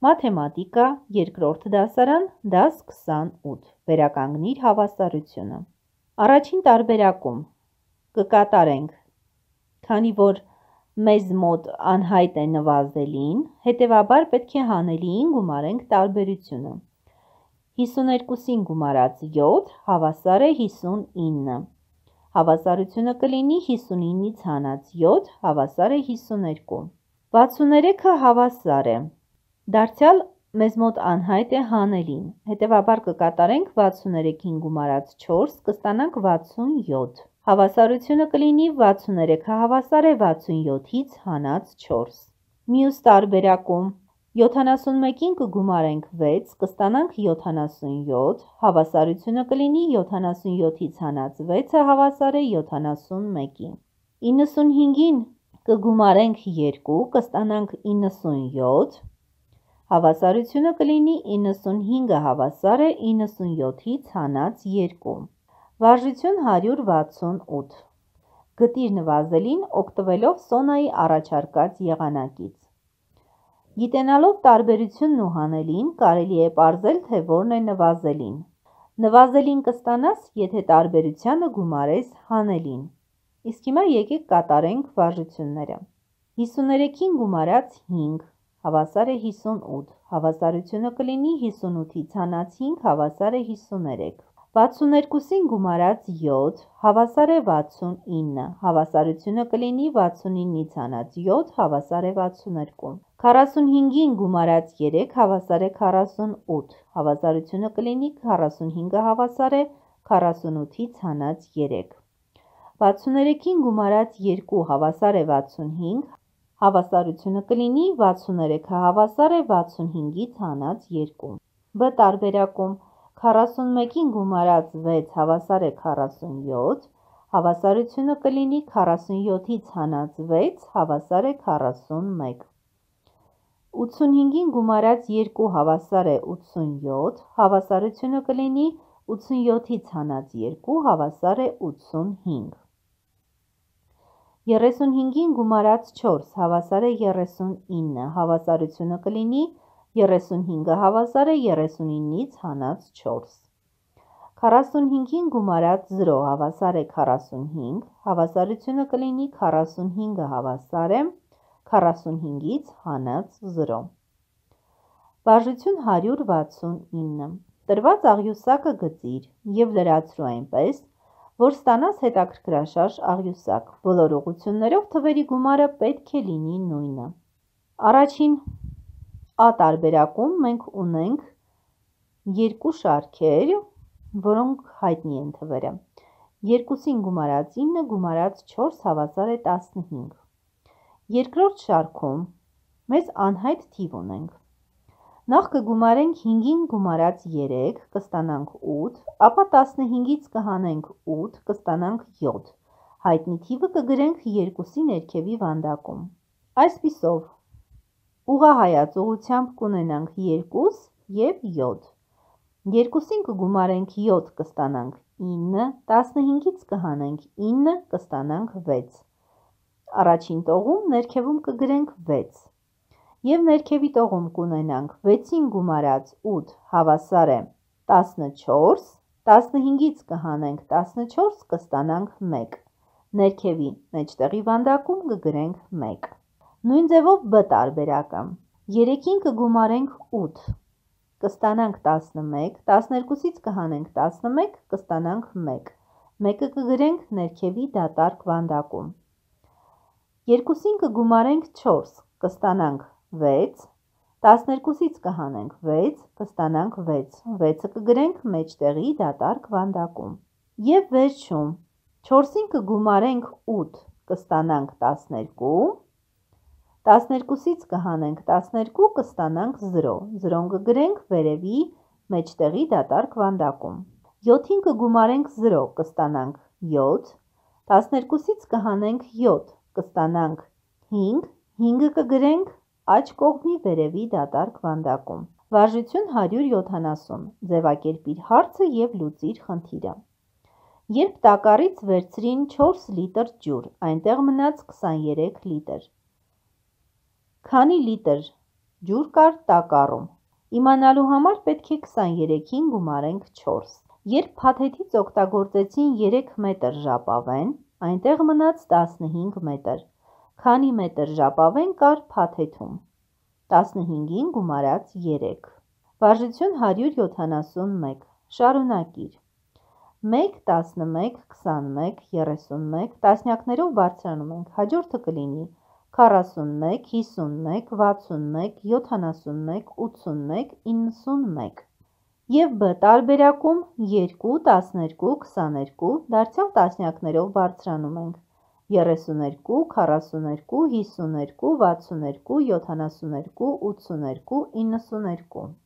Մաթեմատիկա, երկրորդ դասարան, դաս 28, վերականգնիր հավասարությունը։ Առաջին տարբերակում կկատարենք, քանի որ մեզ մոտ անհայտ է նվազելին, հետևաբար պետք է հանելիին գումարենք տարբերությունը։ 52-ին գումարած 7 հավասար է 59, հավասարությունը կլինի 59-ից հանած 7 հավասար է 52, 63-ը հավասար է, դարձյալ մեզ մոտ անհայտ է հանելին, հետևաբար կկատարենք 63-ին գումարած 4 կստանանք 67, հավասարությունը կլինի 63-ը հավասար է 67-ից հանած 4, մյուս տարբերակում 71-ին կգումարենք 6 կստանանք 77, հավասարությունը կլինի 77-ից հանած 6-ը հավասար է 71-ի, 95-ին կգումարենք 2 կստանանք 97, հավասարությունը կլինի 95-ը հավասար է 97-ից հանած 2, վարժություն 168, գտիր նվազելին օգտվելով Սոնայի առաջարկած եղանակից, գիտենալով տարբերությունն ու հանելին կարելի է պարզել, թե որն է նվազելին, նվազելին կստանաս, եթե տարբերությանը գումարես հանելին, իսկ հիմա եկեք կատարենք վարժությունները, 53-ին գումարած 5 հավասար է 58, հավասարությունը կլինի 58-ից հանած 5 հավասար է 53, 62-ին գումարած 7 հավասար է 69, հավասարությունը կլինի 69-ից հանած 7 հավասար է 62, 45-ին գումարած 3 հավասար է 48, հավասարությունը կլինի 45-ը հավասար է 48-ից հանած 3, 63-ին գումարած 2 հավասար է 65, հավասարությունը կլինի 63-ը հավասար է 65-ից հանած 2, բ տարբերակում 41-ին գումարած 6 հավասար է 47, հավասարությունը կլինի 47-ից հանած 6 հավասար է 41, 85-ին գումարած 2 հավասար է 87, հավասարությունը կլինի 87-ից հանած 2 հավասար է 85, 35-ին գումարած 4 հավասար է 39, հավասարությունը կլինի 35-ը հավասար է 39-ից հանած 4, 45-ին գումարած 0 հավասար է 45, հավասարությունը կլինի 45-ը հավասար է 45-ից հանած 0, վարժություն 169, տրված աղյուսակը գծիր և լրացրու այնպես, որ ստանաս հետաքրքրաշարժ աղյուսակ, բոլոր ուղղություններով թվերի գումարը պետք է լինի նույնը։ Առաջին A տարբերակում մենք ունենք երկու շարքեր, որոնք հայտնի են թվերը, 2-ին գումարած 9 գումարած 4 հավասար է 15, երկրորդ շարքում մեզ անհայտ թիվ ունենք, նախ կգումարենք 5-ին գումարած 3 կստանանք 8, ապա 15-ից կհանենք 8 կստանանք 7, հայտնի թիվը կգրենք 2-ի ներքևի վանդակում, այսպիսով ուղղահայաց ուղղությամբ կունենանք 2 և 7, 2-ին կգումարենք 7 կստանանք 9, 15-ից կհանենք 9 կստանանք 6, առաջին տողում ներքևում կգրենք 6, և ներքևի տողում կունենանք 6-ին գումարած 8 հավասար է 14, 15-ից կհանենք 14 կստանանք 1, ներքևի մեջտեղի վանդակում կգրենք 1, նույն ձևով B տարբերակը, 3-ին կգումարենք 8, կստանանք 11, 12-ից կհանենք 11 կստանանք 1, 1-ը կգրենք ներքևի դատարկ վանդակում, 2-ին կգումարենք 4 կստանանք 6, 12-ից կհանենք 6 կստանանք 6, 6-ը կգրենք մեջտեղի դատարկ վանդակում, և վերջում 4-ին կգումարենք 8 կստանանք 12, 12-ից կհանենք 12 կստանանք 0, 0-ն կգրենք վերևի մեջտեղի դատարկ վանդակում, 7-ին կգումարենք 0 կստանանք 7, 12-ից կհանենք 7 կստանանք 5, 5-ը կգրենք աջ կողմի վերևի դատարկ վանդակում, վարժություն 170, ձևակերպիր հարցը և լուծիր խնդիրը, երբ տակառից վերցրին 4 լիտր ջուր, այնտեղ մնաց 23 լիտր, քանի լիտր Ջուր կար տակառում։ Իմանալու համար պետք է 23-ին գումարենք 4։ Երբ փաթեթից օգտագործեցին 3 մետր ժապավեն, այնտեղ մնաց 15 մետր։ Քանի մետր ժապավեն կար փաթեթում։ 15-ին գումարած 3։ Վարժություն 171։ Շարունակիր։ 1, 11, 21, 31, տասնյակներով բարձրանում ենք, հաջորդը կլինի 41, 51, 61, 71, 81, 91։ Եվ B տարբերակում 2, 12, 22, դարձյալ տասնյակներով բարձրանում ենք 32, 42, 52, 62, 72, 82, 92, 92։